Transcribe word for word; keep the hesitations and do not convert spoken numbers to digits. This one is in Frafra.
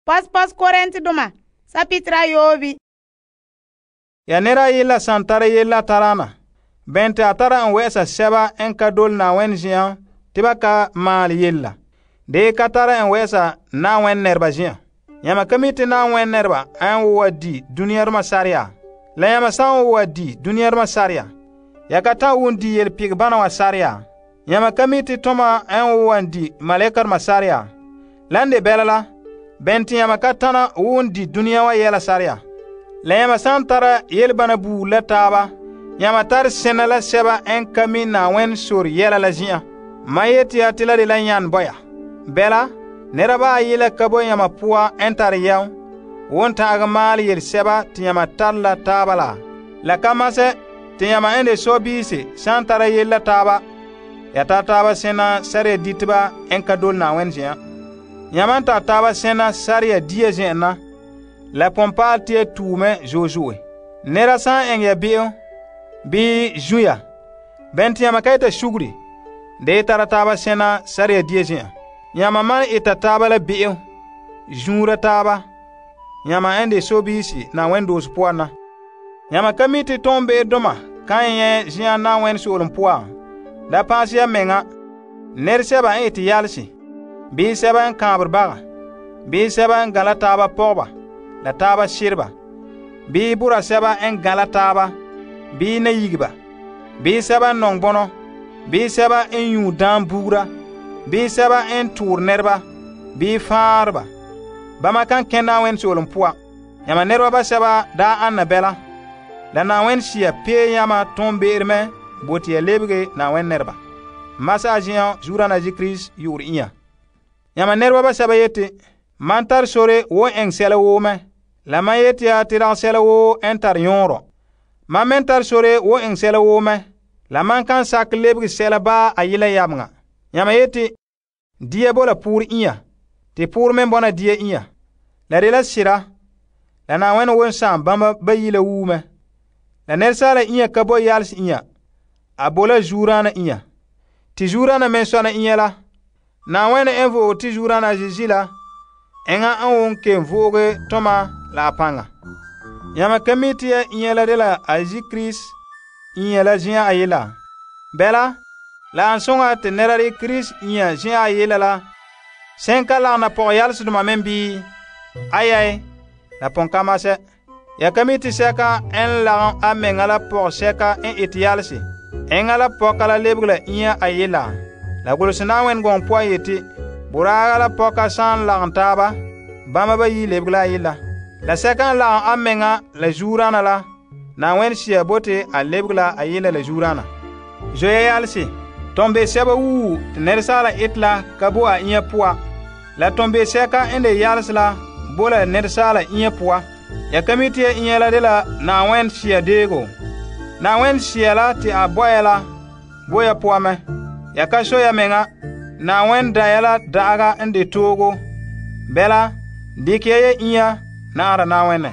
Pos-pos Korintedoma, sapitra yobi. Ya nera yilla san tara yella tarana. Bente a tara en wɛ'ɛsa sɛba en ka dole Na'ayenɛ zen'an te ba ka maale yella. De ka tara en wɛ'ɛsa Na'ayenɛ nɛreba zen'an. Yãma ka mi te Na'ayenɛ nɛreba an wo wa di duniyadoma sareya. La yãma san wo wa di duniyadoma sareya, ya ka ta'an won di yelpegebana wa sareya. Yãma ka mi te toma an wo wa di malekadoma sareya. Lan de bɛla la, bɛnte yãma ka tana won di duniya wa yɛla sareya. La yãma san tara yelebana buuri la taaba, yãma tar sena la sɛba n ka mi Na'ayenɛ sore yɛla la zin'an. Ma yeti ya te la de la yan bɔya. Bɛla, nɛreba ayi la ka bo yãma poan n tare yɛm, won ta'agɛ maale yelesɛba te yãma tare la taaba la. La ka masɛ te yãma n de sɔbiisi san tara yele la taaba, ya tar taaba sena sariya diteba n ka dole Na'ayenɛ zen'an. Yãma n tar taaba sena sariya dia zen'an na, la pɔnpaal te ya tuume zo'e zo'e. Nera san eŋɛ ya be'em bii zuya, bɛn te yãma ka yeta suguri, de tara taaba sena sariya dia zen'an. Yãma man eta taaba la be'em, zuura taaba, yãma n de sɔbiisi Na'ayenɛ doose poan na. Yãma ka mi te tɔmbe'edoma kan nyɛ zen'an Na'ayenɛ so'olem poan. Da paanse ya meŋa, nɛresɛba n ete yalese, bii sɛba n kãabere baga, bii sɛba n gãla taaba pɔgeba, la taaba sereba, bii bora sɛba n gãla taaba, bii nayigeba, bii sɛba n nɔŋ bɔnɔ, bii sɛba n yũu daam bugura, bii sɛba n toore nɛreba, bii fãareba. Bama kan kẽ Na'ayenɛ so'olem poan. Yãma nɛreba basɛba daa ana bɛla, la Na'ayenɛ Sea pee yãma tɔmbe'ere mɛ bote ya lebege Na'ayenɛ nɛreba. Masa a zen'an Zuurana Kirisi yu'urɛ inya. Yãma nɛreba basɛba yete, man tar sore wo eŋɛ sɛla woo mɛ. La man yete ya te dagɛ sɛla woo n tar yõorɔ. Man men tar sore wo eŋɛ sɛla woo mɛ. La man kan sakɛ lebege sɛla baa a yela yameŋa. Yãma yete, dia bola poore inya, te poore men bɔna dia inya. La de la sira, la Na'ayenɛ won sãam bãmba bayi la wuume. La nɛresaala inya ka bo yalese inya, a bo la zuurana inya. Te zuurana men sɔna inya la, Na'ayenɛ n vo'oge te zuurana a Zeezi la, enŋa n won kelum vo'oge tɔma la a paŋa. Yãma ka mi te ya inya la de la a Zeezi Kirisi inya la zen'an a yela. Bɛla, la an soŋa te nɛra de Kirisi inya zen'an a yela la, sẽn ka lagena pɔgɔyalesedoma men bii? Ayai, la pɔnka masɛ. Ya ka mi te sɛka n lagem a meŋa la pɔgɔsɛka n ete yalese, eŋa la pɔka la lebege la inya a yela. La golose Na'ayenɛ gɔŋɔ poan yeti, boraaga la pɔka san lagem taaba, bãmba bayi lebege la a yela. La sɛka n lagem a meŋa la zuurana la, Na'ayenɛ Sea bote a lebege la a yela la zuurana. Zoya yalese, tɔmbeesɛba wuu te nɛresaala ete la ka bo a inya poa. La tɔmbeesɛka n de yalese la bo la nɛresaala inya poa. Ya ka mi te ya inya la de la Na'ayenɛ Sea deego. Na'ayenɛ Sea la te a bɔya la bo ya poa mɛ. Ya ka so ya meŋa, Na'ayenɛ da ya la da'aga n de toogo. Bɛla, dikɛ ya ya inya na'ara Na'ayenɛ.